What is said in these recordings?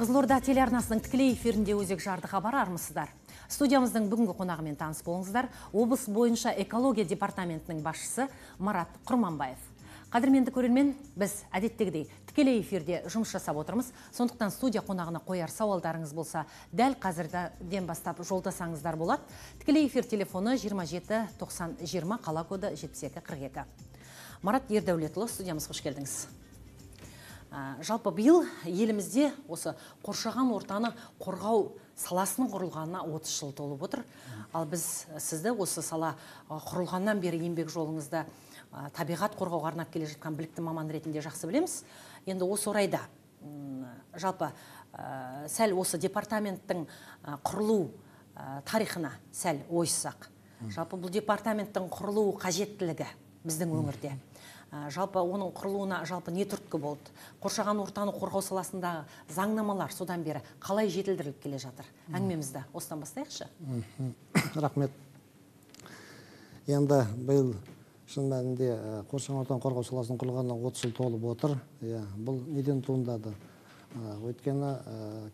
Қызылорда телеарнасының тікелей эфирінде өзек жарды хабар армысыздар. Студиямыздың бүгінгі қонағымен таныс болыңыздар. Облыс бойынша экология департаментінің басшысы Марат Құрманбаев. Қадірменді көрермен, біз әдеттегідей тікелей эфирде жұмыс жасап отырмыз. Сондықтан студия қонағына қояр сауалдарыңыз болса, дәл қазірден бастап жолдасаңыздар болады. Тікелей эфир телефоны 27 90 20, қала коды 72 42. Марат Ердәулетұлы, студиямызға қош келдіңіз. Жалпы биыл елімізде осы қоршаған ортаны қорғау саласының құрылғанына 30 жыл толып отыр. Ал біз сізді осы сала құрылғаннан бері еңбек жолыңызда табиғат қорғауға арнап келе жатқан білікті маман ретінде жақсы білеміз. Енді осы орайда жалпы сәл осы департаменттің құрылу тарихына сәл ойыссақ. Жалпы бұл департаменттің құрылу қажеттілігі біздің өңірде. Жалпы оның құрылуына жалпы не түрткі болды? Қоршаған ортаны қорғау саласындағы заңнамалар содан бері қалай жетілдіріліп келе жатыр? Әңгімемізді осыдан бастайықшы. Рахмет. Енді биыл шын мәнінде қоршаған ортаны қорғау саласының құрылғанына 30 жыл толып отыр. Бұл неден туындады? Өйткені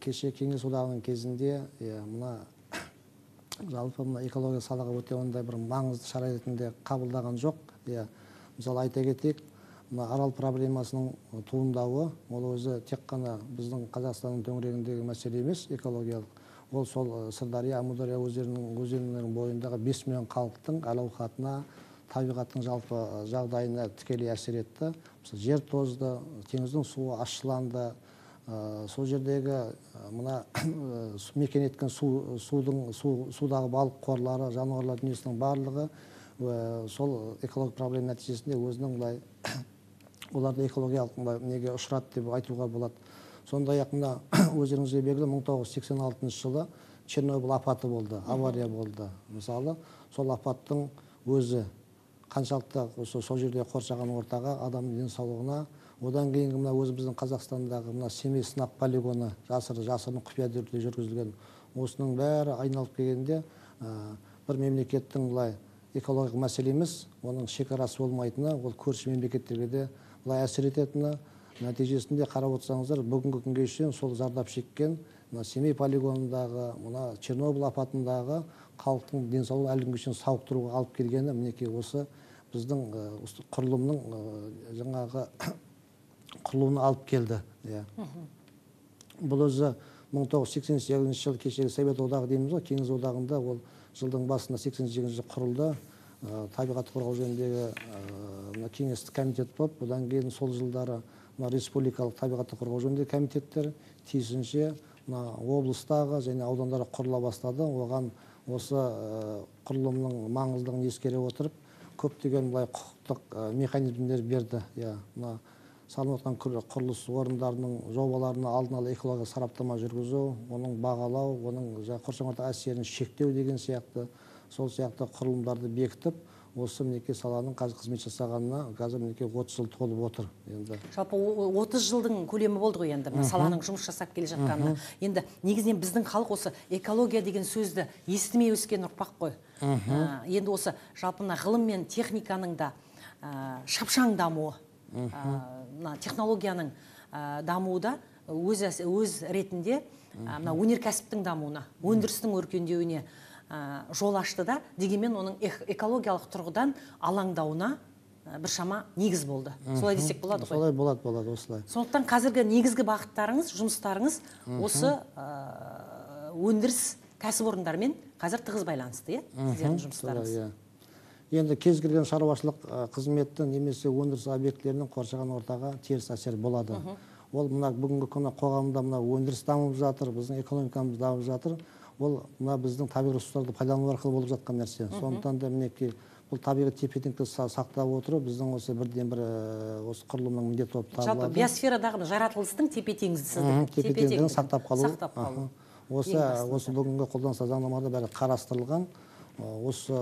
кеше Кеңес одағының кезінде жалпы экология салаға өте ондай бір маңызды шара ретінде қабылдаған жоқ. Мысалы айта кетейік, арал проблемасының туындауы, ол өзі тек қана біздің Қазақстанның төңірегіндегі мәселе емес, экологиялық. Ол сол Сырдария, Амудария өзенінің бойындағы 5 миллион халықтың әл-ауқатына, табиғаттың жалпы жағдайына тікелей әсер етті. Жер тозды, теңіздің суы ащыланды. Сол жердегі мекен еткен судағы балық қорлары, жануарлар дүниесінің барлығы сол экологиялық проблема нәтижесінде өзінің оларды экологиялық неге ұшырады деп айтуға болады. Сондай-ақ өздеріңізге белгілі 1986 жылы Чернобыль апаты болды, авария болды. Мысалы, сол апаттың өзі қаншалықты сол жерде қоршаған ортаға, адамның денсаулығына, одан кейінгі өзіміздің Қазақстандағы Семей сынақ полигоны жасырын құпия түрде жүргізілген. Осының бәрі айналып келгенде бір мемлекеттің экологиялық мәселе емес, оның шекарасы болмайтыны, ол көрші мемлекеттерге де әсер ететіні. Нәтижесінде қарап отырсаңыздар, бүгінгі күнге шейін сол зардап шеккен Семей полигонындағы, Чернобыль апатындағы халықтың денсаулығын әлі күнге шейін сауықтыруға алып келгені мінекей осы біздің құрылымның жаңағы құрылуына алып келді. Бұл өзі 1988 жылы кешегі Совет одағы дейміз ғой, Кеңес одағында ол жылдың басында 88 жылы құрылды. Табиғат қорғау жөніндегі кеңестік комитет болып, одан кейін сол жылдары республикалық табиғатты қорғау жөніндегі комитеттер тиісінше облыстағы және аудандары құрыла бастады. Оған осы құрылымның маңыздылығын ескере отырып, көптеген құқықтық механизмдер берді. Салынып отқан құрылыс орындарының жобаларына алдын ала экологиялық сараптама жүргізу, оның бағалау, оның қоршаған ортаға әсерін шектеу деген сияқты, сол сияқты құрылымдарды бекітіп, осы мінекей саланың қазір қызмет жасағанына қазір мінекей 30 жыл толып отыр. Жалпы 30 жылдың көлемі болды ғой енді саланың жұмыс жасап келе жатқанына. Енді негізінен біздің халық осы экология деген сөзді естімей өскен ұрпақ қой. Енді осы жалпы ғылым мен техниканың да шапшаң дамуы, технологияның дамуы да өз ретінде өнеркәсіптің дамуына, өндірістің өркендеуіне жол ашты да, дегенмен оның экологиялық тұрғыдан алаңдауына біршама негіз болды. Солай десек болады ғой? Солай болады, осылай. Сондықтан қазіргі негізгі бағыттарыңыз, жұмыстарыңыз осы өндіріс кәсіпорындармен қазір тығыз байланысты, сіздердің жұмыстарыңыз. Енді кез келген шаруашылық қызметті немесе өндіріс объектілерінің қоршаған ортаға теріс әсер болады. Ол бүгінгі күні қоғамда өндіріс дамып жатыр, біздің экономикамыз дамып жатыр. Ол біздің табиғи ресурстарды пайдалану арқылы болып жатқан нәрсе. Сондықтан да мінекей бұл табиғи тепе-теңдікті сақтап отыру біздің осы бірден бір осы құрылымның міндеті болып табылады. Жалпы биосферадағы жаратылыстың тепе-теңдігін сақтап қалу. Осы бүгінгі қолданыстағы заңнамада бәрі қарастырылған. Осы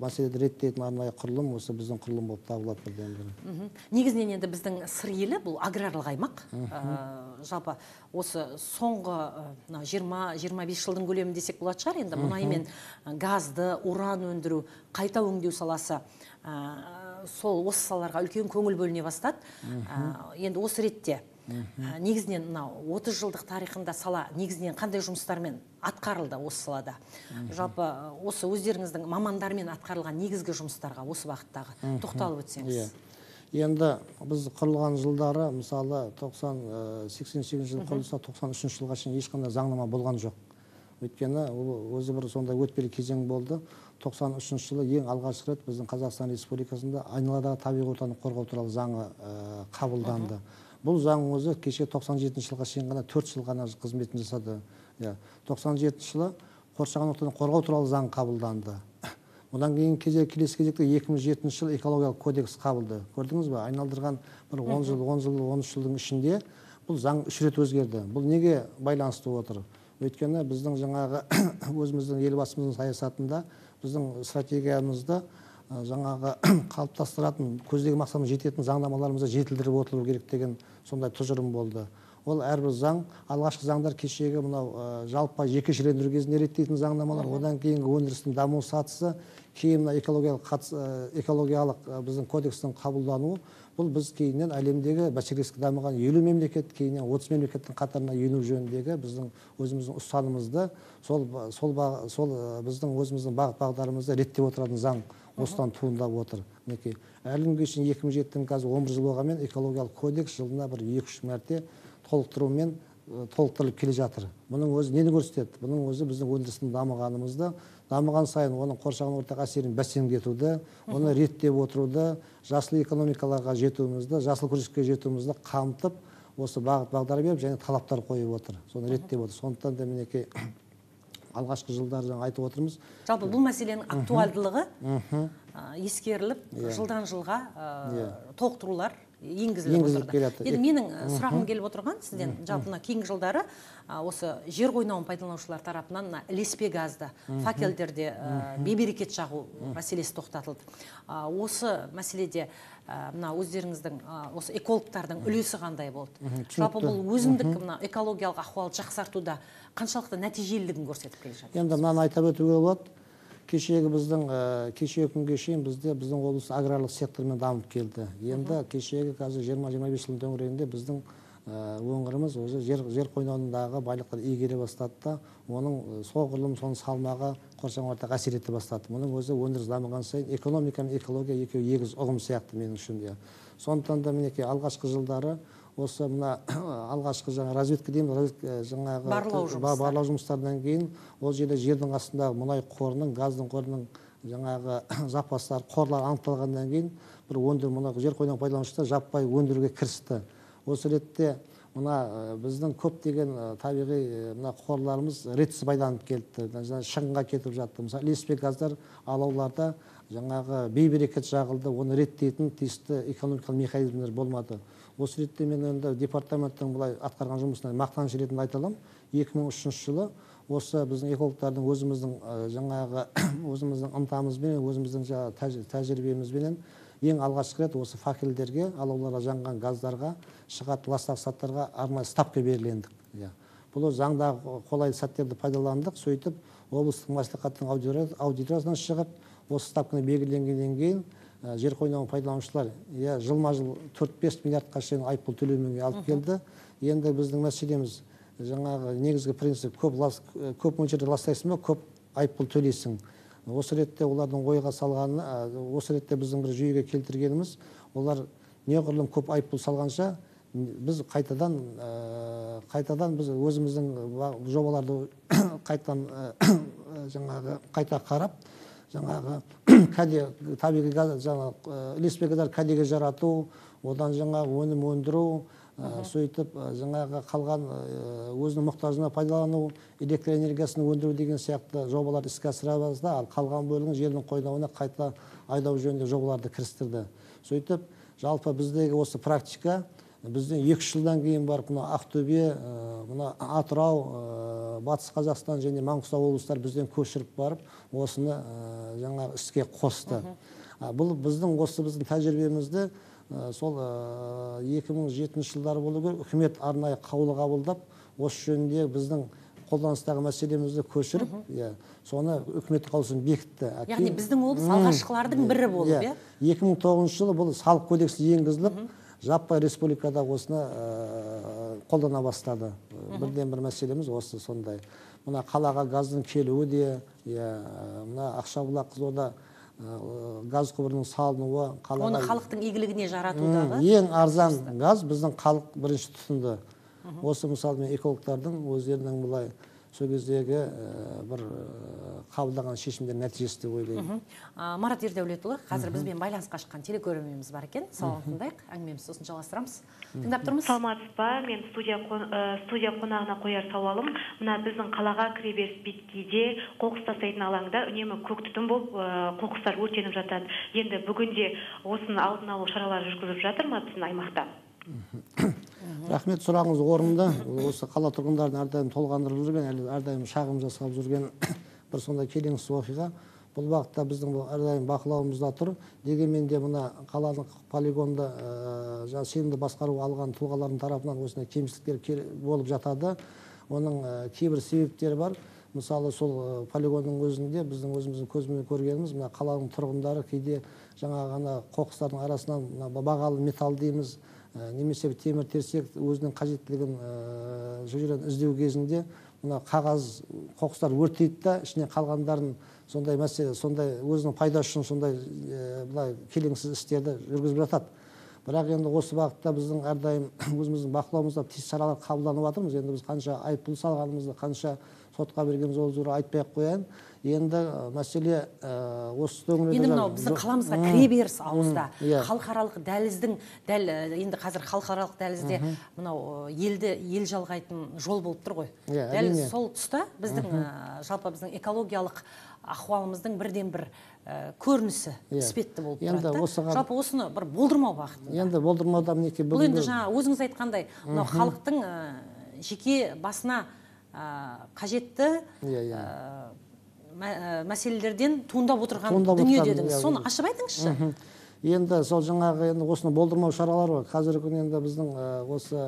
мәселеді реттейтін арнайы құрылым осы біздің құрылым болып табылады бірден бірі. Негізінен енді біздің сыр елі бұл аграрлық аймақ. Жалпы осы соңғы 20-25 жылдың көлемі десек болады шығар. Енді мұнай мен газды, уран өндіру, қайта өңдеу саласы сол осы салаларға үлкен көңіл бөліне бастады. Енді осы ретте Негізінен мынау 30 жылдық тарихында сала негізінен қандай жұмыстармен атқарылды осы салада? Жалпы осы өздеріңіздің мамандармен атқарылған негізгі жұмыстарға осы бағыттағы тоқталып өтсеңіз. Енді біз құрылған жылдары, мысалы 88 жыл құрылса, 93 жылға шейін ешқандай заңнама болған жоқ. Өйткені өзі бір сондай өтпелі кезең болды. 93 жылы ең алғаш рет біздің Қазақстан Республикасында айналадағы табиғи ортаны қорғау туралы заңы қабылданды. Бұл заң өзі кеше 97 жылға шейін ғана 4 жыл ғана қызметін жасады. 97 жылы қоршаған ортаны қорғау туралы заң қабылданды. Одан кейін келесі кезекте 2007 жыл экологиялық кодекс қабылды. Көрдіңіз бе? Айналдырған бір 10 жыл, 13 жылдың ішінде бұл заң 3 рет өзгерді. Бұл неге байланысты отыр? Өйткені біздің жаңағы өзіміздің елбасымыздың саясатында, біздің стратегиямызда жаңағы қалыптастыратын, көздеген мақсатымыз жететін заңнамаларымызды жетілдіріп отыру керек деген сондай тұжырым болды. Ол әрбір заң, алғашқы заңдар кешегі мынау жалпы жекешелендіру кезінде реттейтін заңнамалар, одан кейінгі өндірістің даму сатысы, кейін экологиялық біздің кодекстің қабылдануы, бұл біз кейіннен әлемдегі бәсекелестікке дамыған 50 мемлекет, кейіннен 30 мемлекеттің қатарына ену жөніндегі біздің өзіміздің ұстанымызды, сол біздің өзіміздің бағыт-бағдарымызды реттеп отыратын заң осыдан туындап отыр. Мінекей, әлі күнге шейін 2007-тің қазір 11 жыл болғанмен экологиялық кодекс жылына бір 2-3 мәрте толықтырылып келе жатыр. Бұның өзі нені көрсетеді? Бұның өзі біздің өндірістің дамығанымызды, дамыған сайын оның қоршаған ортаға әсерін бәсеңдетуді, оны реттеп отыруды, жасыл экономикаларға жетуімізді, жасыл күреске жетуімізді қамтып, осы бағыт-бағдар беріп және талаптар қойып отыр. Соны реттеп отыр. Сондықтан да мінекей алғашқы жылдар жаңа айтып отырмыз. Жалпы бұл мәселенің актуалдылығы ескеріліп, жылдан жылға толықтырулар енгізіліп отырды. Енді менің сұрағым келіп отырған сізден, жалпы кейінгі жылдары осы жер қойнауын пайдаланушылар тарапынан ілеспе газды, факелдерде бейберекет жағу мәселесі тоқтатылды. Осы мәселеде өздеріңіздің, осы экологтардың үлесі қандай болды? Жалпы бұл өзіндік экологиялық ахуалды жақсартуда қаншалықты нәтижелілігін көрсетіп келе жатыр? Енді мынаны айтып өтуге болады. Кешегі күнге шейін біздің облыс аграрлық сектормен дамып келді. Енді кешегі қазір 20-25 жылдың төңірегінде біздің өңіріміз өзі жер қойнауындағы байлықтар игере бастады да, оның соғұрлым соның салмағы қоршаған ортаға әсер ете бастады. Мұның өзі өндіріс дамыған сайын экономика мен экология екеуі егіз ұғым сияқты менің үшін. Сондықтан да мінекей алғашқы жылдары осы мына алғашқы разведка дейміз, жаңағы барлау жұмыстарынан кейін ол жерде жердің астындағы мұнай қорының, газдың қорының жаңағы запастар, қорлар анықталғаннан кейін бір жер қойнауын пайдаланушылар жаппай өндіруге кірісті. Осы ретте мына біздің көптеген табиғи қорларымыз ретсіз байланып келді, шығынға кетіп жатты. Мысалы, ілеспе газдар алауларда жаңағы бейберекет жағылды, оны реттейтін тиісті экономикалық механизмдер болмады. Осы ретте мен енді департаменттің бұлай атқарған жұмысына мақтаныш ретінде айта аламын. 2003 жылы осы біздің экологтардың өзіміздің ынтамызбен, өзіміздің тәжірибемізбен ең алғашқы рет осы факелдерге, алауларға жанған газдарға, шығатын ластағыш заттарға арнайы ставка белгілендік. Бұл заңдағы қолайлы сәттерді пайдаландық, сөйтіп облыстық мәслихаттың аудиториясынан шығып, осы ставканы белгіленгеннен кейін жер қойнауын пайдаланушылар жылма-жыл 4-5 миллиардқа шейін айыппұл төлемеуге алып келді. Енді біздің мәселеміз жаңағы негізгі принцип, көп мөлшерде ластайсың ба, көп айыппұл төлейсің. Осы ретте олардың ойға салғаны, осы ретте біздің бір жүйеге келтіргеніміз, олар неғұрлым көп айыппұл салғанша, біз қайтадан біз өзіміздің жобаларды қайта қарап, жаңағы табиғи газ, ілеспе газдар кәдеге жарату, одан жаңағы өнім өндіру, сөйтіп жаңағы қалған өзінің мұқтажына пайдалану, электр энергиясын өндіру деген сияқты жобалар іске асырамыз да, ал қалған бөлігін жердің қойнауына қайта айдау жөнінде жобаларды кірістірді. Сөйтіп, жалпы біздегі осы практика бізден 2 жылдан кейін барып, Ақтөбе, Атырау, Батыс Қазақстан және Маңғыстау облыстар бізден көшіріп барып, осыны жаңағы іске қосты. Бұл біздің тәжірибемізді сол 2007 жылдары болу керек, үкімет арнайы қаулы қабылдап, осы жөнінде біздің қолданыстағы мәселемізді көшіріп, соны үкімет қаулысын бекітті. Яғни біздің облыс алғашқылардың бірі болып, 2009 жылы бұл салық кодексі енгізіліп, жаппай республикада осыны қолдана бастады. Бірден бір мәселеміз осы сондай. Мына қалаға газдың келуі де, мына Ақшабұлақ Қызылорда газ құбырының салынуы, оны халықтың игілігіне жаратудағы ең арзан газ біздің халық бірінші тұтынды. Осы мысалы экологтардың өздерінің бұлай сол кездегі бір қабылдаған шешімдер нәтижесі деп ойлаймын. Марат Ердәулетұлы, қазір бізбен байланысқа шыққан телекөрерменіміз бар екен. Саламын тыңдайық, әңгімемізді сосын жалғастырамыз. Тыңдап тұрмыз. Саламатсыз ба? Мен студия қонағына қояр сауалым, мына біздің қалаға кіреберіс беткейде қоқыс тастайтын алаңда үнемі көк түтін болып қоқыстар өртеніп жатады. Енді бүгінде осының алдын алу шаралары жүргізіліп жатыр ма біздің аймақта? Рахмет, сұрағыңыз орынды. Осы қала тұрғындарын әрдайым толғандырып жүрген, әрдайым шағым жасап жүрген бір сондай келеңсіз оқиға. Бұл бағытта біздің әрдайым бақылауымызда тұр. Дегенмен де мына қаланың полигонда сенімді басқаруға алған тұлғалардың тарапынан осындай кемшіліктер болып жатады. Оның кейбір себептері бар. Мысалы, сол полигонның өзінде біздің өзіміздің көзбен көргеніміз, мына қаланың тұрғындары кейде жаңа ғана қоқыстардың арасынан бағалы металл дейміз, немесе темір терсек өзінің қажеттілігін жүрген іздеу кезінде мына қағаз қоқыстар өртейді да, ішіне қалғандарын сондай мәселе, сондай өзінің пайдасы үшін сондай былай келеңсіз істерді жүргізіп жатады. Бірақ енді осы бағытта біздің әрдайым өзіміздің бақылауымызда тиісті шаралар қабылданып жатырмыз. Енді біз қанша айыппұл салғанымызды, қанша сотқа берген ол жайлы айтпай-ақ қояйын. Енді мәселе осы төңірегінде енді мынау біздің қаламызға кіреберіс ауызда халықаралық дәліздің дәл енді қазір халықаралық дәлізде мынау ел жалғайтын жол болып тұр ғой. Дәл сол тұста біздің жалпы біздің экологиялық ахуалымыздың бірден бір көрінісі іспетті болып тұрады. Жалпы осыны бір болдырмау бағытында. Енді болдырмауда мінекей бұл енді жаңа өзіңіз айтқандай мынау халықтың жеке басына қажетті мәселелерден туындап отырған дүние дедіңіз. Соны ашып айтыңызшы. Енді сол жаңағы осыны болдырмау шаралары бар. Қазіргі күні енді біздің осы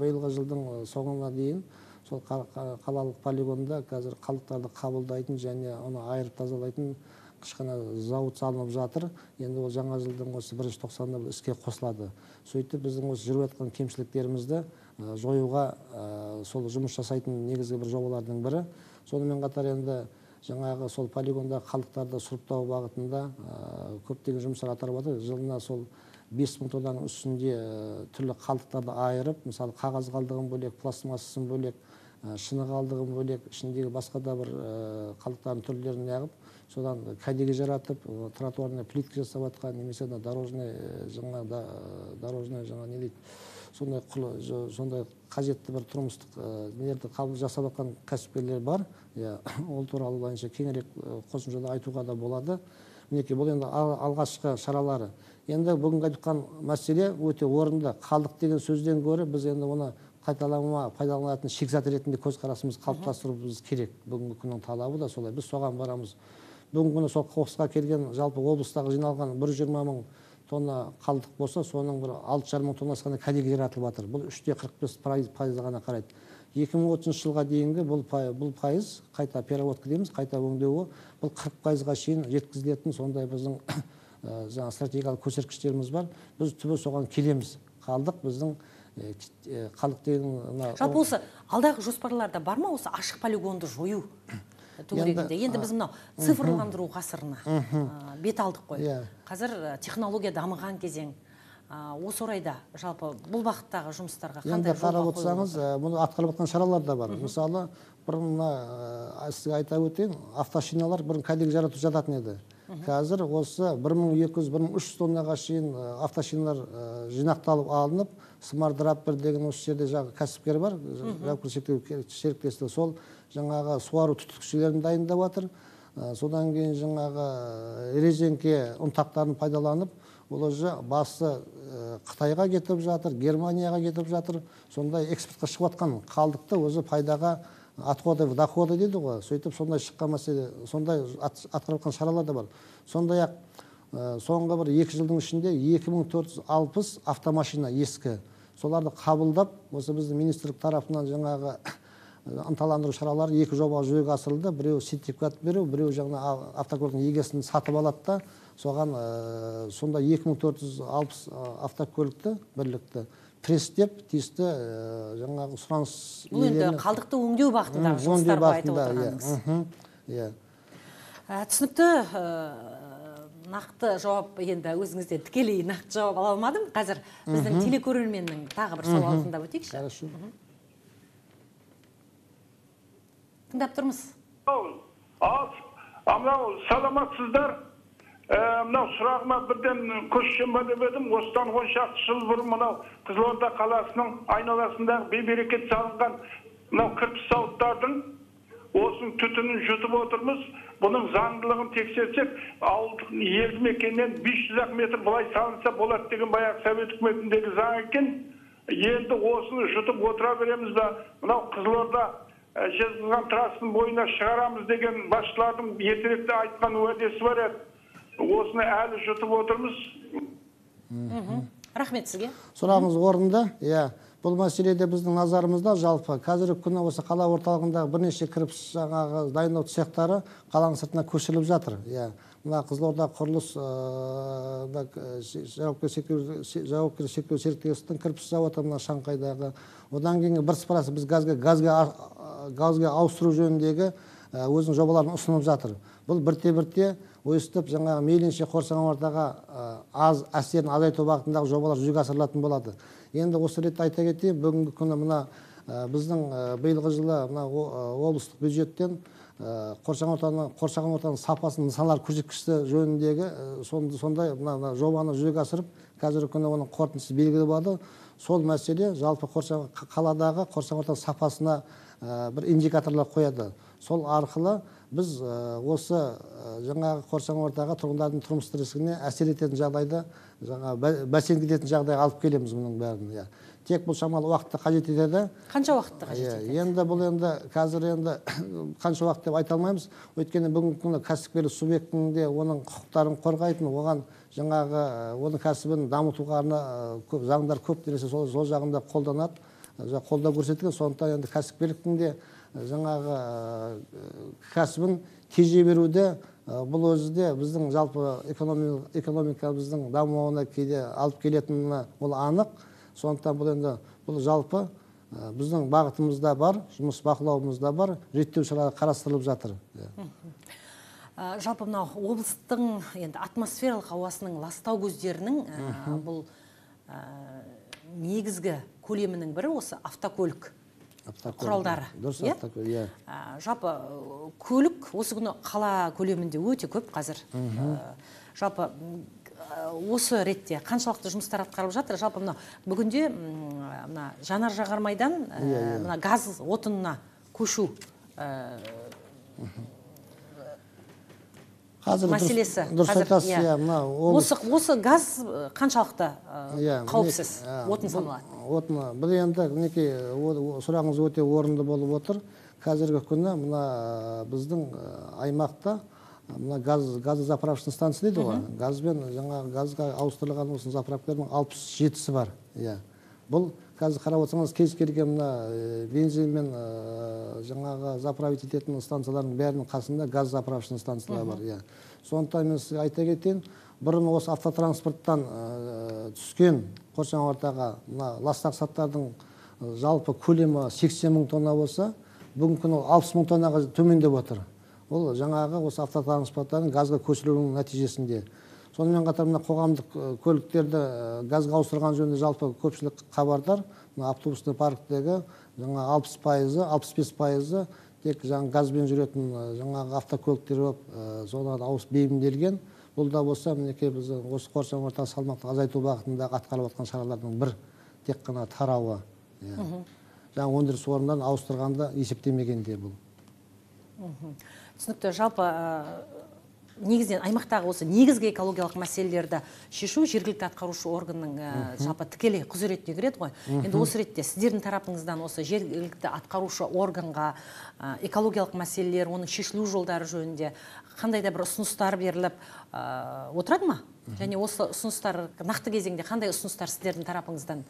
биылғы жылдың соңына дейін сол қалалық полигонда қазір қалдықтарды қабылдайтын және оны айырып тазалайтын кішкене зауыт салынып жатыр. Енді ол жаңа жылдың осы 1-тоқсанында іске қосылады. Сөйтіп біздің осы жүріп жатқан кемшіліктерімізді жоюға сол жұмыс жасайтын негізгі бір жобалардың бірі. Сонымен қатар енді жаңағы сол полигонда қалдықтарды сұрыптау бағытында көптеген жұмыстар атқарылып жатыр. Жылына сол 5000 тоннаның үстінде түрлі қалдықтарды айырып, мысалы қағаз қалдығын бөлек, пластмассасын бөлек, шыны қалдығын бөлек, ішіндегі басқа да бір қалдықтардың түрлерін неғып, содан кәдеге жаратып, тротуарына плитка жасап жатқан, немесе дорожный жаңа не дейді, сондай қажетті бір тұрмыстық нелерді жасап жатқан кәсіпкерлер бар. Ол туралы бойынша кеңірек қосымшада айтуға да болады. Мінекей бұл енді алғашқы шаралары. Енді бүгінгі айтқан мәселе өте орынды. Қалдық деген сөзден гөрі біз енді оны пайдаланатын шикізат ретінде көзқарасымыз қалыптастыруымыз керек. Бүгінгі күннің талабы да солай. Біз соған барамыз. Бүгінгі күні сол қоқысқа келген жалпы облыстағы жиналған 120 мың тонна қалдық болса, соның бір 6,5 мың тоннасы ғана кәдеге жаратылып жатыр. Бұл 3,45% ғана қарайды. 2030 жылға дейінгі бұл пайыз қайта переработка дейміз, қайта өңдеуі бұл 40%-ға шейін жеткізілетін сондай біздің жаңа стратегиялық көрсеткіштеріміз бар. Біз түбі соған келеміз. Қалдық біздің қалдық деген жалпы осы алдағы жоспарларда бар ма осы ашық полигонды жою төңірегінде? Енді біз мынау цифрландыру ғасырына бет алдық қой. Қазір технология дамыған кезең. Осы орайда жалпы бұл бағыттағы жұмыстарға қандай жол қарап отырсаңыз, мұны атқарылып жатқан шаралар да бар. Мысалы, бұрын сізге айта өтейін, автошиналар бұрын кәдеге жаратып жататын еді. Қазір осы 1200-1300 тоннаға шейін автошиналар жинақталып алынып, Smart Wrapper деген осы жерде кәсіпкер бар, серіктестігі, сол жаңағы суару түтікшелерін дайындап жатыр. Содан кейін жаңағы резеңке ұнтақтарын пайдаланып, ол уже басы Қытайға кетіп жатыр, Германияға кетіп жатыр. Сондай экспортқа шығып жатқан қалдықты өзі пайдаға доходы дейді ғой. Сөйтіп сондай шыққан мәселе, сондай атқарылған шаралар да бар. Сондай-ақ соңғы бір 2 жылдың ішінде 2460 автомашина ескі. Соларды қабылдап, осы біздің министрлік тарапынан жаңағы ынталандыру шаралары 2 жоба жүзеге асырылды. Біреу сертификат беру, біреу жаңа автокөліктің егесін сатып алады да, соған сонда 2460 автокөлікті бірлікті пресстеп, тиісті жаңағы сұраныс Бұл енді қалдықты өңдеу бағытындағы жұмыстарға айтып отырғаныңыз. Түсінікті, нақты жауап енді өзіңізден тікелей нақты жауап ала алмадым. Қазір біздің телекөрерменнің тағы бір сауалын тыңдап өтейікші. Тыңдап тұрмыз. Мынау саламатсыздар. Мынау сұрағыма бірден көшсем ба деп едім. Осыдан 10 шақты жыл бұрын мынау Қызылорда қаласының айналасындағы бей-берекет салынған мынау кірпіш зауыттардың осының түтінін жұтып отырмыз. Бұның заңдылығын тексерсек, ауылдық елді мекеннен 500 метр былай салынса болады деген баяғы Совет үкіметіндегі заң екен. Енді осыны жұтып отыра береміз ба? Мынау Қызылорда жезқазған трассының бойына шығарамыз деген басшылардың ертеректе айтқан уәдесі бар еді. Осыны әлі жұтып отырмыз. Рахмет сізге. Сұрағыңыз орынды. Бұл мәселеде біздің назарымызда жалпы қазіргі күні осы қала орталығындағы бірнеше кірпіш жаңағы дайындау цехтары қаланың сыртына көшіріліп жатыр. Мына Қызылорда құрылыс жауапкершілігі шектеулі серіктестіктің кірпіш зауыты мына Шаңқайдағы. Одан кейін бірсыпырасы біз газға ауыстыру жөніндегі өзінің жобаларын ұсынып жатыр. Бұл бірте-бірте өстіп жаңағы мейлінше Қоршаған ортаға аз әсерін азайту бағытындағы жобалар жүзеге асырылатын болады. Енді осы ретте айта кетейін, бүгінгі күні мына біздің биылғы жылы мына облыстық бюджеттен қоршаған ортаның сапасын нысаналар көрсеткіші жөніндегі сондай мына жобаны жүзеге асырып, қазіргі күні оның қорытындысы белгілі болады. Сол мәселе жалпы қаладағы қоршаған ортаның сапасына бір индикаторлар қояды. Сол арқылы біз осы жаңағы қоршаған ортаға тұрғындардың тұрмыс тіршілігіне әсер ететін жағдайды, бәсеңдететін жағдайға алып келеміз мұның бәрін. Тек бұл шамалы уақытты қажет етеді. Қанша уақытты қажет етеді? Енді бұл қазір қанша уақыт деп айта алмаймыз. Өйткені бүгінгі күні кәсіпкерлік субъектінде оның құқықтарын қорғайтын, оған жаңағы оның кәсібін дамытуға заңдар көп нәрсе сол жағында қолданады, қолдау көрсетілген. Сондықтан енді кәсіпкерліктің де жаңағы кәсібін тежей беруде бұл өзі де біздің жалпы экономикамыздың дамуына кейде алып келетіні ол анық. Сондықтан бұл жалпы біздің бағытымызда бар, жұмыс бақылауымызда бар, реттеу шаралары қарастырылып жатыр. Жалпы мынау облыстың атмосфералық ауасының ластау көздерінің бұл негізгі көлемінің бірі осы автокөлік құралдары. Жалпы көлік осы күні қала көлемінде өте көп қазір. Жалпы осы ретте қаншалықты жұмыстар атқарылып жатыр? Жалпы бүгінде жанар жағармайдан газ отынына көшу мәселесі. Осы газ қаншалықты қауіпсіз отын саналады? Бұл енді сұрағыңыз өте орынды болып отыр. Қазіргі күні біздің аймақта газы заправочный станция дейді ғой. Газға ауыстырылған осы заправкалардың 67-сі бар. Бұл қазір қарап отырсаңыз кез келген бензинмен жаңағы заправить ететін станциялардың бәрінің қасында газ заправочный станциялар бар. Сондықтан мен сізге айта кетейін, бұрын осы автотранспорттан түскен қоршаған ортаға ластық заттардың жалпы көлемі 80 мың тонна болса, бүгінгі күні 60 мың тоннаға төмендеп отыр. Ол жаңағы осы автотранспорттардың газға көшірілуінің нәтижесінде. Сонымен қатар қоғамдық көліктерді газға ауыстырған жөнінде жалпы көпшілік хабардар. Автобусный парктегі 60-65% тек газбен жүретін жаңағы автокөліктер болып, соған ауысып бейімделген. Бұл да болса, біз осы қоршаған ортаға салмақты азайту бағытында атқарылып жатқан шаралардың бір тек қана тарауы. Жаңа өндіріс орындарын ауыстырғанда есептемегенде бұл. Түсінікті. Жалпы негізден аймақтағы осы негізгі экологиялық мәселелерді шешу жергілікті атқарушы органның жалпы тікелей құзыретіне кіреді ғой. Енді осы ретте сіздердің тарапыңыздан осы жергілікті атқарушы органға экологиялық мәселелер, оның шешілу жолдары жөнінде қандай да бір ұсыныстар беріліп отырады ма? Және осы ұсыныстар нақты кезеңде қандай ұсыныстар сіздердің тарапыңыздан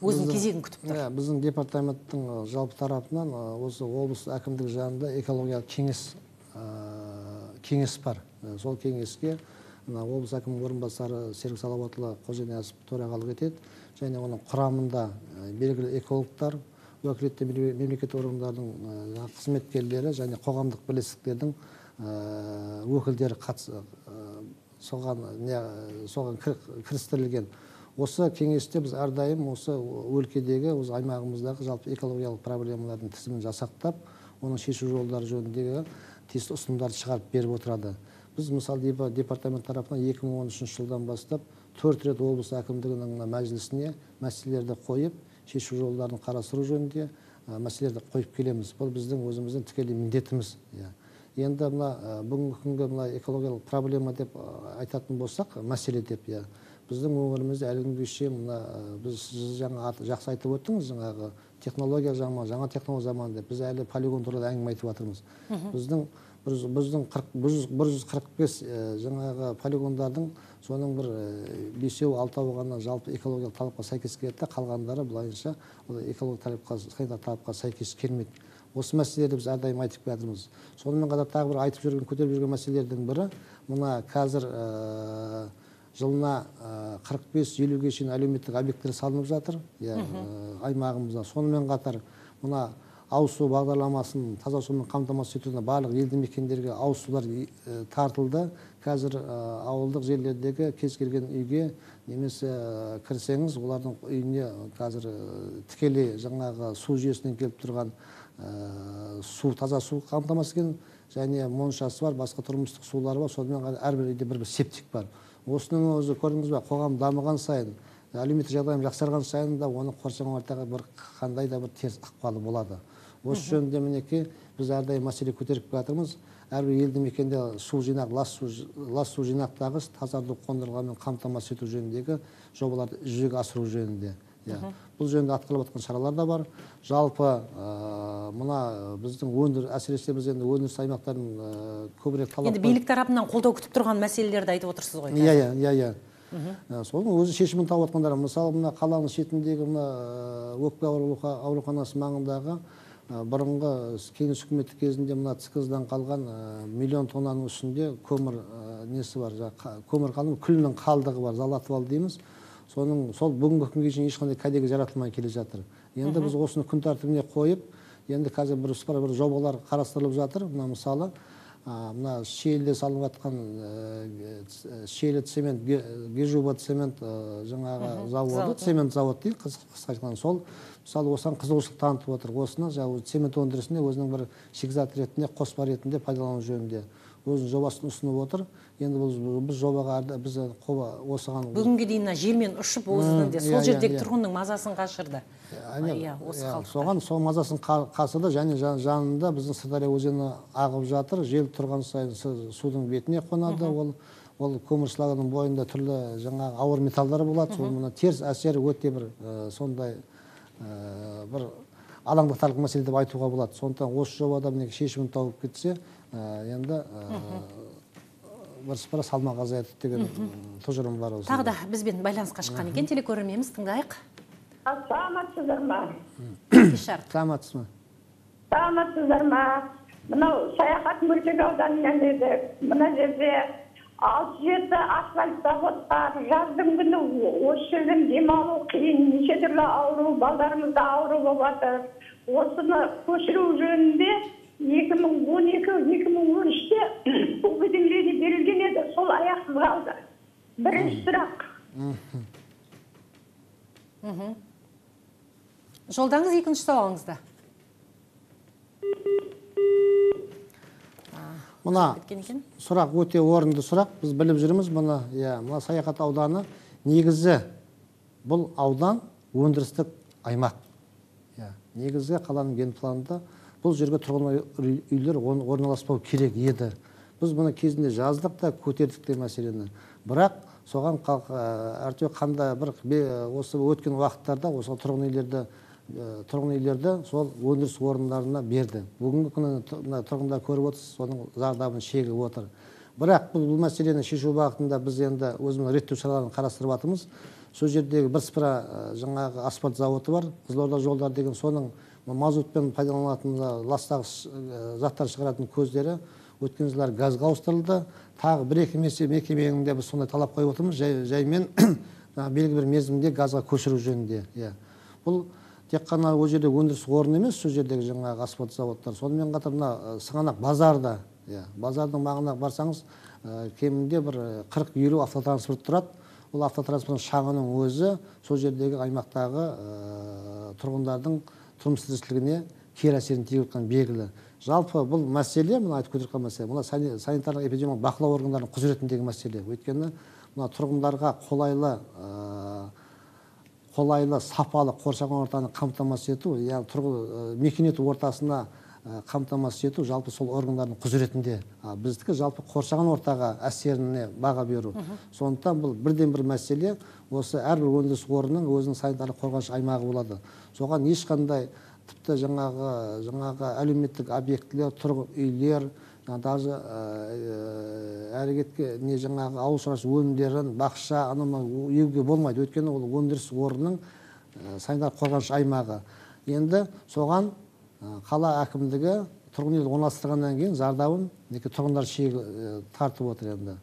өзінің кезегін күтіп тұр. Біздің департаменттің жалпы тарапынан осы облыс әкімдігі жанында экологиялық кеңес бар. Сол кеңеске облыс әкімінің орынбасары Серік Салауатұлы Қожаниясов төрағалық етеді, және оның құрамында белгілі экологтар, уәкілетті мемлекеттік органдардың қызметкерлері және қоғамдық бірлестіктердің өкілдері соған кірістірілген. Осы кеңесте біз әрдайым осы өлкедегі, осы аймағымыздағы жалпы экологиялық проблемалардың тізімін жасақтап, оның шешу жолдары жөніндегі тиісті ұсынымдарды шығарып беріп отырады. Біз мысалы департамент тарапынан 2013 жылдан бастап 4 рет облыс әкімдігінің мәжілісіне мәселелерді қойып, шешу жолдарын қарастыру жөнінде мәселелерді қойып келеміз. Бұл біздің өзіміздің тікелей міндетіміз. Енді бүгінгі күнгі экологиялық проблема деп айтатын болсақ, мәселе деп, біздің өңірімізде әлі күнге шейін біз жаңа жақсы айтып өттіңіз, жаңағы технология заманы, жаңа технология заманы деп, біз әлі полигон туралы әңгіме айтып жатырмыз. Біздің 145 жаңағы полигондардың соның бір 5-6 ғана жалпы экологиялық талапқа сәйкес келеді, қалғандары былайынша экологиялық талапқа сәйкес келмейді. Осы мәселелерді біз әрдайым айтып жатырмыз. Сонымен қатар тағы бір көтеріп жүрген мәселелердің бірі, мына қазір жылына 45-50-ге шейін әлеуметтік объекттер салынып жатыр аймағымызда. Сонымен қатар мына ауыз су бағдарламасын таза сумен қамтамасыз етуіне барлық елді мекендерге ауыз сулар тартылды. Қазір ауылдық жерлердегі кез келген үйге немесе кірсеңіз, олардың үйіне қазір тікелей жаңағы су жүйесінен келіп тұрған таза су қамтамасыз еткен, және моншасы бар, басқа тұрмыстық сулары бар. Сонымен қатар әрбір үйде бір септик бар. Осының өзі көрдіңіз бе, қоғам дамыған сайын, әлеуметтік жағдайым жақсарған сайын да оның қоршаған ортаға бір қандай да бір теріс ықпалы болады. Осы жөнінде мінекей біз әрдайым мәселе көтеріп жатырмыз. Әрбір елді мекенде су жинақ, лас су жинақтағыш, тазарту қондырғылармен қамтамасыз ету жөніндегі жобаларды жүзеге асыру жөнінде. Бұл жөнінде атқарылып жатқан шаралар да бар. Жалпы мына біздің әсіресе біз енді өндіріс аймақтарын көбірек талап. Енді билік тарапынан қолдау күтіп тұрған мәселелерді айтып отырсыз ғой. Иә. Соның өзі шешімін тауып жатқандар. Мысалы, мына қаланың шетіндегі өкпе ауруханасы маңындағы бұрынғы кеңес үкіметі кезінде мына ЦКЗ-дан қалған миллион тоннаның үстінде көмір несі бар, көмір қалдығы, күлінің қалдығы бар, залатвал дейміз. Сол бүгінгі күнге шейін ешқандай кәдеге жаратылмай келе жатыр. Енді біз осыны күн тәртібіне қойып, енді қазір бір жобалар қарастырылып жатыр. Мысалы, мына Шиеліде салынып жатқан Шиелі цемент, Гежуба цемент жаңағы заводы, цемент завод дейді, қысқа айтқанда. Сол мысалы осыған қызығушылық танытып отыр. Осыны цемент өндірісінде өзінің бір шикізат ретінде, қоспа ретінде пайдалану жөнінде өзінің жобасын ұсынып отыр. Енді біз жобаға біз осыған бүгінге дейін желмен ұшып өзінің сол жердегі тұрғынның мазасын қашырды. Соған сол мазасын қасырды, және жанында біздің Сырдария өзені ағып жатыр. Жел тұрған сайын судың бетіне қонады. Ол көміршылардың бойында түрлі жаңағы ауыр металдар болады. Сол мұны теріс әсері өте бір сондай бір алаңдатарлық мәселе деп айтуға болады. Сондықтан осы жобада шешімін тауып кетсе, енді бір салмақ азаяды деген тұжырым бар. Тағы да бізбен байланысқа шыққан екен телекөрерменіміз, тыңдайық. Саламатсыздар ма? Саламатсыз ма? Саламатсыздар ма? Мынау Саяхат мөлтек ауданынан едік. Мына жерде 6-7 асфальт завод бар. Жаздың күні осы жерден демалу қиын, неше түрлі ауру, балдарымызда ауру болып жатыр. Осыны көшіру жөнінде 2012-2013-те уведомление берілген еді, сол аяқсыз қалды. Бірінші сұрақ. Жолдаңыз екінші сауалыңызда. Мына сұрақ өте орынды сұрақ. Біз біліп жүрміз мұны. Мына Саяхат ауданы негізі бұл аудан өндірістік аймақ. Негізі қаланың генпланында бұл жерге тұрғын үйлер орналаспау керек еді. Біз бұны кезінде жаздық та, көтердік те мәселені. Бірақ соған әртеу қандай бір осы өткен уақыттарда осы тұрғын үйлерді сол өндіріс орындарына берді. Бүгінгі күні тұрғындар көріп отырсыз, соның зардабын шегіп отыр. Бірақ бұл мәселені шешу бағытында біз енді өзіміз реттеу шараларын қарастырып жатырмыз. сол жердегі бірсыпыра жаңағы асфальт заводы бар, Қызылорда жолдар деген, соның мазутпен пайдаланатын ластағыш заттар шығаратын көздері өткен жылдары газға ауыстырылды. Тағы бір-екі мекеменің де біз сондай талап қойып отырмыз, жаймен белгілі бір мерзімде газға көшіру жөнінде. Бұл тек қана ол жерде өндіріс орны емес, сол жердегі жаңағы асфальт заводтар. Сонымен қатар мына Сығанақ базарда, базардың маңына барсаңыз, кемінде бір 40-50 автотранспорт тұрады. Ол автотранспорттың шағының өзі сол жердегі аймақтағы тұрғындардың тұрмыс тіршілігіне кері әсерін тигізіп жатқаны белгілі. Жалпы бұл мәселе, мына айтып кеткен мәселе, мына санитарлық эпидемиологиялық бақылау органдарының құзыретіндегі мәселе. Өйткені мына тұрғындарға қолайлы, сапалы қоршаған ортаны қамтамасыз ету, яғни мекен ету ортасына қамтамасыз ету жалпы сол органдардың құзыретінде. Біздікі жалпы қоршаған ортаға әсеріне баға беру. Сондықтан бұл бірден бір мәселе, осы әрбір өндіріс орнының өзінің санитарлық қорғаныш аймағы болады. Соған ешқандай тіпті жаңағы әлеуметтік объектілер, тұрғын үйлер, даже әрекетке не жаңағы ауыл шаруашылығы өнімдерін, бақша, анау еуге болмайды. Өйткені ол өндіріс орнының санитарлық қорғаныш аймағы. Енді соған қала әкімдігі тұрғын үйді орналастырғаннан кейін зардабын тұрғындар шегі тартып отыр енді.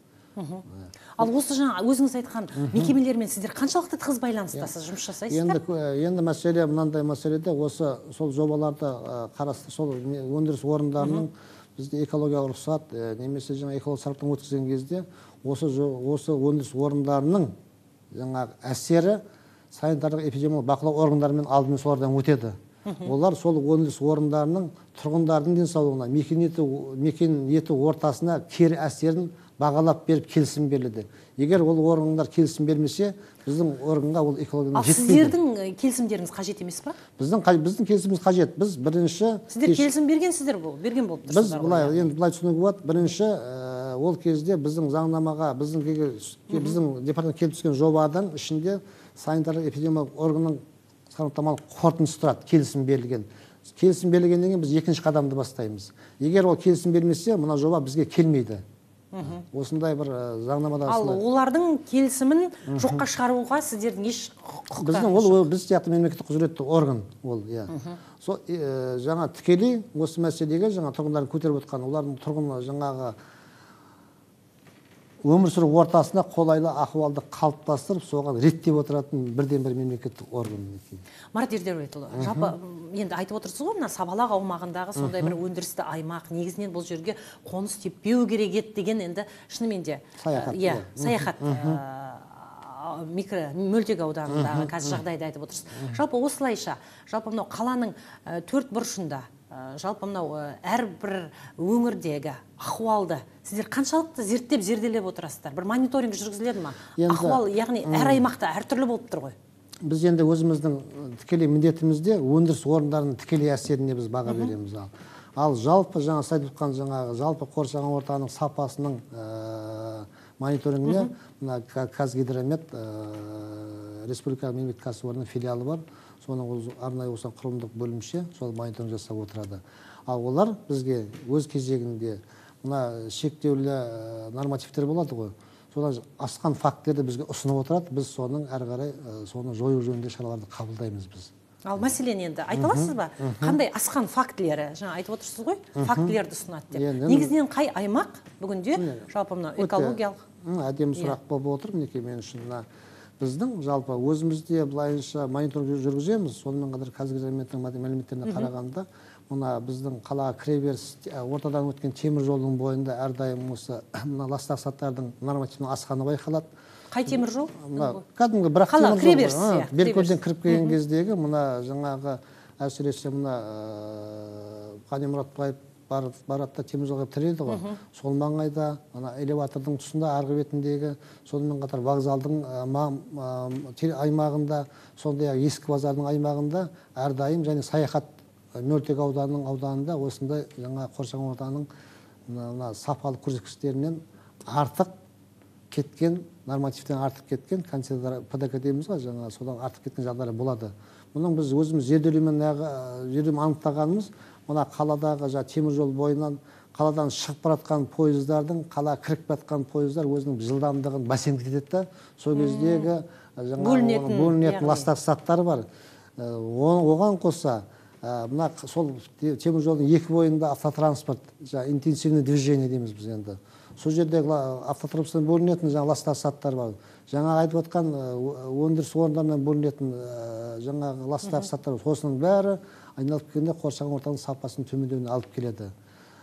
Ал осы жаңа өзіңіз айтқан мекемелермен сіздер қаншалықты тығыз байланыстасыз, жұмыс жасайсыздар? Енді мәселе мынандай мәселеде, осы сол жобаларды қарасты, сол өндіріс орындарының бізде экологиялық рұқсат немесе жаңа экологиялық сараптама өткізген кезде осы өндіріс орындарының жаңағы әсері санитарлық эпидемиологиялық бақылау органдарымен алдымен солардан өтеді. Олар сол өндіріс орындарының тұрғындардың денсаулығына, мекен ету ортасына кері әсерін бағалап беріп келісім беріледі. Егер ол органдар келісім бермесе, біздің органға ол экологияның жетпейді. Ал сіздердің келісімдеріңіз қажет емес па? Біздің келісіміміз қажет. Біз бірінші... Сіздер келісім берген болып тұрсыздар. Біз былай түсінуге болады. Бірінші ол кезде біздің заңнамаға, біздің департамент келіп түскен жобадан ішінде санитарлық эпидемиологиялық органның сараптамалық қорытындысы тұрады, келісім берілген. Келісім берілгеннен кейін біз екінші қадамды бастаймыз. Егер ол келісім бермесе, мына жоба бізге келмейді. Осындай бір заңнамада... Ал олардың келісімін жоққа шығаруға сіздердің еш құқықтарыңыз? Біз сияқты мемлекеттік құзыретті орган ол. Жаңа тікелей осы мәселеге жаңа тұрғындардың көтеріп отқан, олардың тұрғын жаңағы өмір сүру ортасына қолайлы ахуалды қалыптастырып, соған реттеп отыратын бірден бір мемлекеттік орган. Марат Ердәулетұлы, жалпы енді айтып отырсыз ғой, мына Сабалақ аумағындағы сондай бір өндірісті аймақ, негізінен бұл жерге қоныс теппеу керек еді деген енді шынымен де саяхат мөлтек ауданындағы қазір жағдайды айтып отырсыз. Жалпы осылайша, жалпы мынау қаланың төрт бұрышында, жалпы мынау әрбір өңірдегі ахуалды сіздер қаншалықты зерделеп отырасыздар? Бір мониторинг жүргізіледі ма? Ахуал, яғни әр аймақта әртүрлі болып тұр ғой. Біз енді өзіміздің тікелей міндетімізде өндіріс орындарының тікелей әсеріне біз баға береміз. Ал жалпы жаңа айтып отқан жаңағы жалпы қоршаған ортаның сапасының мониторингіне мына Қазгидромет республикалық мемлекеттік кәсіпорынның филиалы бар. Соның арнайы осыған құрылымдық бөлімше сол мониторинг жасап отырады. Ал олар бізге өз кезегінде мына шектеулі нормативтер болады ғой. Содан асқан фактілерді бізге ұсынып отырады. Біз соның әрі қарай соны жою жөнінде шараларды қабылдаймыз біз. Ал мәселен енді айта аласыз ба? Қандай асқан фактілері? Жаңа айтып отырсыз ғой, фактілерді ұсынады деп. Негізінен қай аймақ бүгінде жалпы мына экологиялық? Әдемі сұрақ болып отыр, мінекей мен үшін. Біздің жалпы өзімізде былайынша мониторинг жүргіземіз. Сонымен қатар Қазгидрометтің мәліметтеріне қарағанда, мына біздің қалаға кіреберіс ортадан өткен темір жолдың бойында әрдайым осы ластағыш заттардың нормативінің асқаны байқалады. Қай темір жол? Кәдімгі бірақ темір жол. Беркөлден кіріп келген кездегі мына жаңағы әсіресе мына Қани Мұратбаев баратта темір жолға тіреді ғой. Сол маңайда элеватордың тұсында арғы бетіндегі, сонымен қатар вокзалдың аймағында, сондай ескі базардың аймағында әрдайым және саяхат мөлтек ауданының ауданында осындай жаңа қоршаған ортаның сапалы көрсеткіштерінен артық кеткен, нормативтен артық кеткен ПДК дейміз ғой, жаңа содан артық кеткен жағдайлар болады. Мұның біз өзіміз зерделеумен анықтағанымыз, мына қаладағы темір жол бойынан қаладан шығып баратқан пойыздардың, қала кіріп батқан пойыздар өзінің жылдамдығын бәсеңдетеді етеді да, сол кездегі бөлінетін ластағыш заттар бар. Оған қоса мына сол темір жолдың екі бойында автотранспорт, интенсивный движение дейміз біз енді. Сол жердегі автотранспорттан бөлінетін ластағыш заттар бар. Жаңағы айтып отқан өндіріс орындарынан бөлінетін жаңағы ластағыш заттар бар. Осының бәрі айналып келгенде қоршаған ортаның сапасын төмендеуіне алып келеді.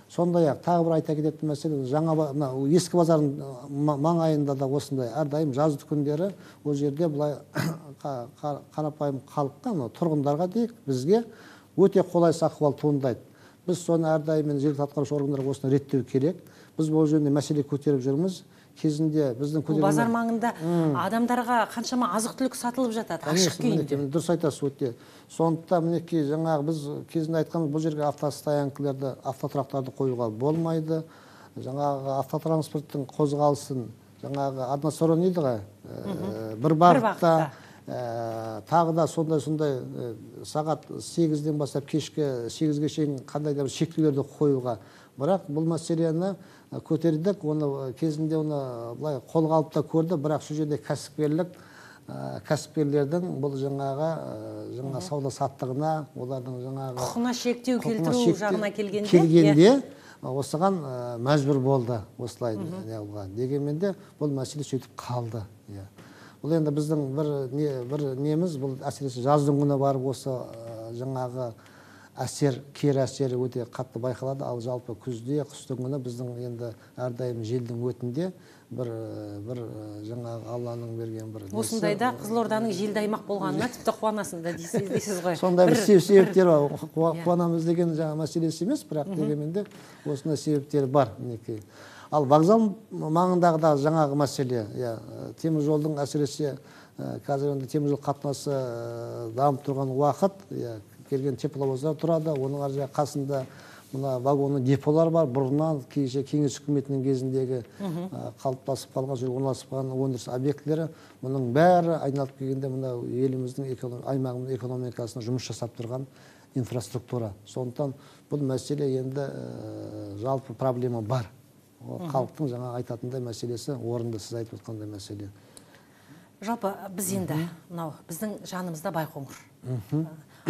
Сондай-ақ тағы бір айта кететін мәселе, жаңа ескі базардың маңайында да осындай әрдайым жазды күндері ол жерде былай қарапайым халыққа, тұрғындарға дейік, бізге өте қолайсыз ахуал туындайды. Біз соны әрдайым жергілікті атқарушы органдарға осыны реттеу керек. Біз бұл жөнінде мәселе көтеріп жүрміз. Кезінде біздің базар маңында адамдарға қаншама азық-түлік сатылып жатады, ашық күйінде. Дұрыс айтасыз өте. Сондықтан мінекей жаңағы біз кезінде айтқанымыз, бұл жерге автостоянкаларды, автотұрақтарды қоюға болмайды. Жаңағы автотранспорттың қозғалысын, жаңағы односторонний дейді ғой, бір бағытта. Тағы да сондай сағат 8-ден бастап кешкі 8-ге шейін қандай да бір шектеулерді қоюға. Бірақ бұл мәселені көтердік, оны кезінде оны былай қолға алып та көрді, бірақ сол жерде кәсіпкерлердің бұл жаңағы сауда саттығына, олардың жаңағы құқығына шектеу келтіру жағына келгенде осыған мәжбүр болды осылай дегенмен де бұл мәселе сөйтіп қалды. Бұл енді біздің бір неміз, бұл әсіресе жаздың күні барып осы жаңағы кері әсері өте қатты байқалады. Ал жалпы күзде, қыстың күні біздің енді әрдайым желдің өтінде бір жаңағы Алланың берген бір осындайда Қызылорданың желді аймақ болғанына тіпті қуанасың да дейсіз ғой. Сондай бір себептер бар. Қуанамыз деген жаңа мәселесі емес, бірақ дегенмен де осындай себептері бар. Ал вокзал маңындағы жаңағы мәселе, темір жолдың әсіресе қазір енді темір жол қатынасы дамып тұрған уақыт, келген тепловоздар тұрады, оның ар жағы қасында мына вагонның деполар бар. Бұрыннан кеңес үкіметінің кезіндегі қалыптасып қалған, орналасып қалған өндіріс объектілері, мұның бәрі айналып келгенде мына еліміздің аймағымыздың экономикасына жұмыс жасап тұрған инфраструктура. Сондықтан бұл мәселе енді жалпы проблема бар. Халықтың жаңа айтатындай мәселесі орынды, сіз айтып отқандай мәселе. Жалпы біз енді біздің жанымызда Байқоңыр.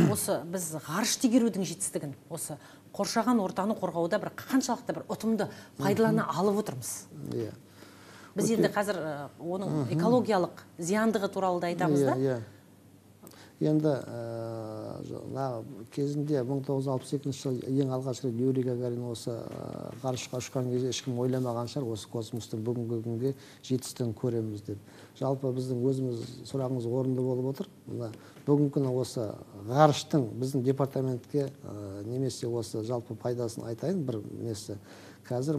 Осы біз ғарыш тегерудің жетістігін, осы қоршаған ортаны қорғауда бір қаншалықты бір ұтымды пайдалана алып отырмыз. Біз енді қазір оның экологиялық зияндығы туралы да айтамыз да. Енді кезінде 1962 жылы ең алғаш рет Юрий Гагарин осы ғарышқа ұшқан кезде ешкім ойламаған шығар, осы космостың бүгінгі күнге жетістігін көреміз деп. Жалпы біздің өзіміз сұрағымыз орынды болып отыр. Бүгінгі күні осы ғарыштың біздің департаментке немесе осы жалпы пайдасын айтайын бір несі. Қазір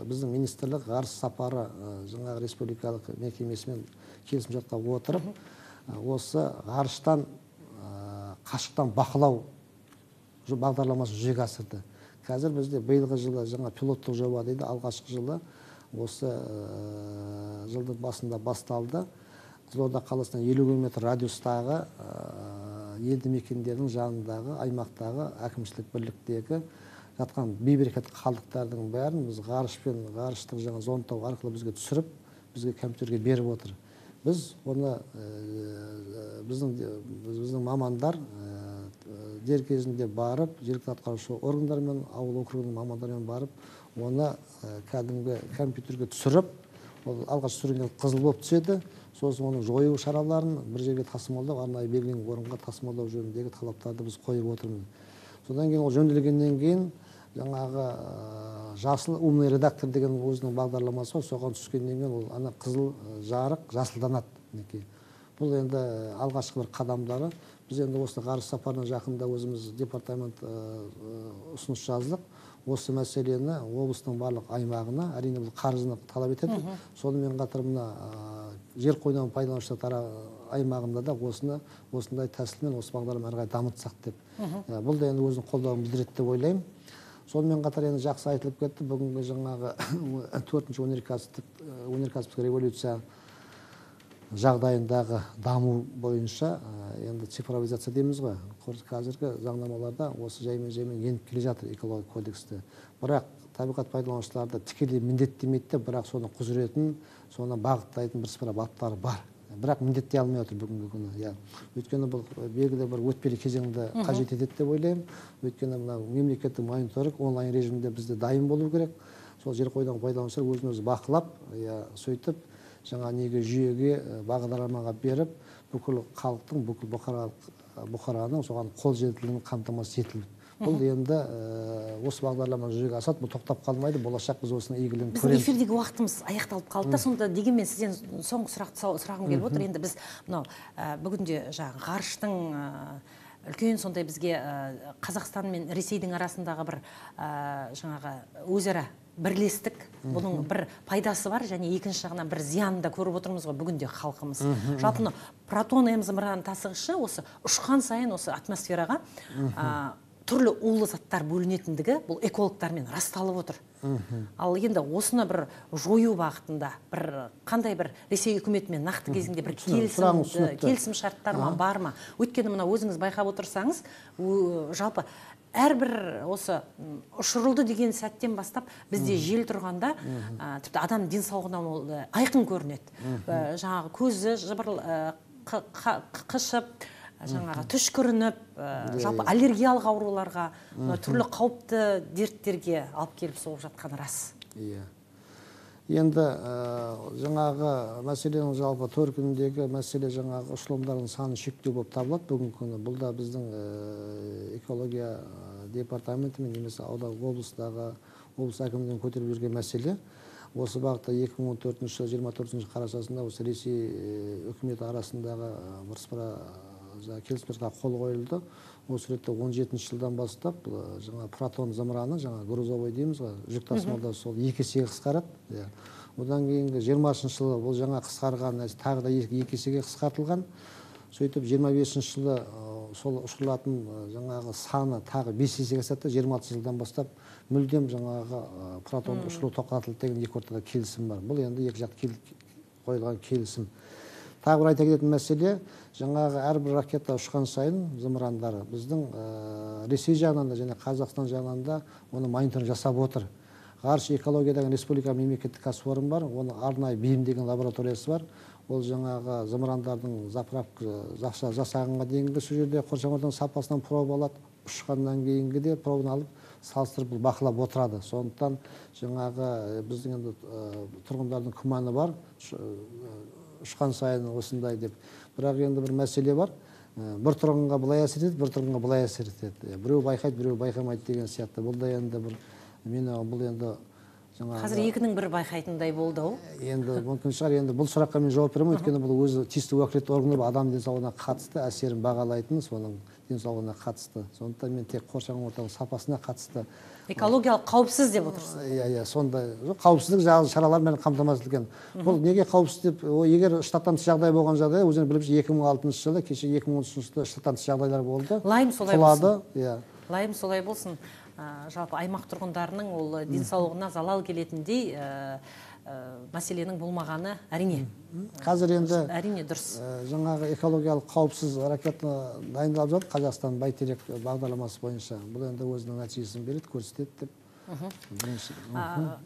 біздің министрлік ғарыш сапары жаңағы республикалық мекемесімен келісімшартқа отырып, осы ғарыштан қашықтан бақылау бағдарламасын жүзеге асырды. Қазір бізде биылғы жылы жаңа пилоттық жоба дейді, алғашқы жылы осы жылдың басында басталды. Қызылорда қаласынан 50 км радиустағы елді мекендердің жанындағы аймақтағы әкімшілік бірліктегі жатқан бейберекет қалдықтардың бәрін біз ғарыштық жаңа зондтау арқылы бізге түсіріп, бізге компьютерге беріп отыр. Біз оны біздің мамандар дер кезінде барып, жергілікті атқарушы органдармен, ауыл округінің мамандарымен барып, оны кәдімгі компьютерге түсіріп, алғаш түсіргенде қызыл болып түседі. Сосын оның жою шараларын бір жерге тасымалдау, арнайы белгіленген орынға тасымалдау жөніндегі талаптарды біз қойып отырмыз. Содан кейін ол жөнделгеннен кейін жаңағы жасыл умный редактор деген өзінің бағдарламасы бар, соған түскеннен кейін ол ана қызыл жарық жасылданады. Бұл енді алғашқы бір қадамдары. Біз енді осы ғарыш сапарына жақында өзіміз департамент ұсыныс жаздық. Осы мәселені облыстың барлық аймағына, әрине бұл қаржыны талап етеді. Сонымен қатар мына жер қойнауын пайдаланушылар аймағында да осындай тәсілмен осы бағдарлама әрі қарай дамытсақ деп. Бұл да енді өзінің қолдауын білдіреді деп ойлаймын. Сонымен қатар енді жақсы айтылып кетті, бүгінгі жаңағы 4-ші өнеркәсіптік революция жағдайындағы даму бойынша енді цифровизация дейміз ғой. Қазіргі заңнамаларда осы жаймен еніп келе жатыр экология кодексте. Бірақ табиғат пайдаланушыларды тікелей міндеттемейді, бірақ соның құзыретін, соны бағыттайтын бірсыпыра баптары бар. Бірақ міндеттей алмай отыр бүгінгі күні. Өйткені бұл белгілі бір өтпелі кезеңді қажет етеді деп ойлаймын. Өйткені мемлекеттік мониторинг онлайн режимде бізде дайын болу керек. Сол жер қойнауын пайдаланушылар өзін-өзі бақылап, сөйтіп жаңа неге жүйеге бағдарламаға беріп, бүкіл халықтың, бүкіл бұқараның соған қол жетімділігін қамтамасыз етілді. Бұл енді осы бағдарлама жүзеге асады, бұл тоқтап қалмайды, болашақ біз осының игілігін көреміз. Біздің эфирдегі уақытымыз аяқталып қалды да, сонда дегенмен сізден соңғы сұрағым келіп отыр. Енді біз мынау бүгінде ғарыштың үлкен сондай бізге Қазақстан мен Ресейдің арасындағы бір жаңағы өзара бірлестік, бұның бір пайдасы бар, және екінші жағынан бір зиянын да көріп отырмыз ғой бүгінде халқымыз. Жалпы протон зымыран тасығышы осы ұшқан сайын осы атмосфераға түрлі улы заттар бөлінетіндігі бұл экологтармен расталып отыр. Ал енді осыны бір жою бағытында бір қандай бір Ресей үкіметімен нақты кезінде бір келісім шарттар бар ма? Өйткені мына өзіңіз байқап отырсаңыз, жалпы әрбір осы ұшырылды деген сәттен бастап бізде жел тұрғанда тіпті адам денсаулығына айқын көрінеді. Жаңағы көзі қышып, жаңағы түшкірініп, жалпы аллергиялық ауруларға, түрлі қауіпті дерттерге алып келіп соғып жатқаны рас. Енді жаңағы мәселенің жалпы төркініндегі мәселе жаңағы ұшырылымдардың саны шектеу болып табылады бүгінгі күні. Бұл да біздің экология департаменті мен немесе облыстағы облыс әкімдігінің көтеріп жүрген мәселе. Осы бағытта 2014 жылы 24 қарашасында осы Ресей үкіметі арасындағы бірсыпыра келісімшартқа қол қойылды. Осы ретте 17 жылдан бастап жаңа протон зымыраны, жаңа грузовой дейміз ғой, жүк тасымалдау сол 2 есеге қысқарады. Одан кейінгі 20 жылы бұл жаңа қысқарған, тағы да 2 есеге қысқартылған. Сөйтіп 25 жылы сол ұшырылатын жаңағы саны тағы 5 есеге қысқарды. 26 жылдан бастап мүлдем жаңағы протон ұшыру тоқтатылды деген екі ортада келісім бар. Бұл енді екі жақ қойылған келісім. Тағы бір айта кететін мәселе, жаңағы әрбір ракета ұшқан сайын зымырандары біздің Ресей жағынан да және Қазақстан жағынан да оны мониторинг жасап отыр. Ғарыш экологиядағы республика мемлекеттік кәсіпорын бар, оны арнайы бейімделген лабораториясы бар. Ол жаңағы зымырандардың заправка жасағанға дейінгі сол жерде қоршаған ортаның сапасынан проба алады, ұшқаннан кейінгі де пробаны алып салыстырып бақылап отырады. Сондықтан жаңағы біздің енді тұрғындардың күмәні бар, ұшқан сайын осындай деп. Бірақ енді бір мәселе бар. Бір тұрғынға былай әсер етеді, бір тұрғынға былай әсер етеді. Біреу байқайды, біреу байқамайды деген сияқты. Бұл да енді бір бұл енді қазір екінің бір байқайтындай болды ау. Енді мүмкін шығар, енді бұл сұраққа мен жауап беремін, өйткені бұл өзі тиісті уәкілетті органдар адам денсаулығына қатысты әсерін бағалайтын, соның денсаулығына қатысты. Сондықтан мен тек қоршаған ортаның сапасына қатысты. Экологиялық қауіпсіз деп отырсыз. Сондай қауіпсіздік шаралармен қамтамасыз етілген. Бұл неге қауіпсіз деп, егер штаттан тыс жағдай болған жағдай, өзіңіз біліп 2006 жылы, кеше 2013 жылы штаттан тыс жағдайлар болды. Лайым солай болсын. Лайым солай болсын. Жалпы аймақ тұрғындарының ол денсаулығына залал келетіндей мәселенің болмағаны әрине. Қазір енді әрине дұрыс. Жаңағы экологиялық қауіпсіз ракета дайындалып жатыр Қазақстан бәйтерек бағдарламасы бойынша. Бұл енді өзінің нәтижесін береді, көрсетеді деп.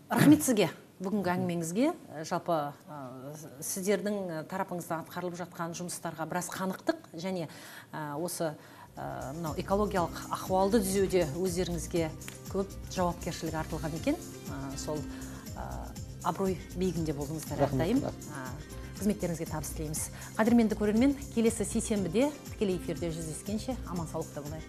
Рахмет сізге бүгінгі әңгімеңізге. Жалпы сіздердің тарапыңыздан атқарылып жатқан жұмыстарға біраз қанықтық, және осы экологиялық ахуалды түзеуде өздеріңізге көп жауапкершілік артылған екен. Сол абырой биігінде болдыңыздар әрдайым. Қызметтеріңізге табыс тілейміз. Қадірменді көрермен, келесі сейсенбіде тікелей эфирде жүздескенше аман саулықта болайық.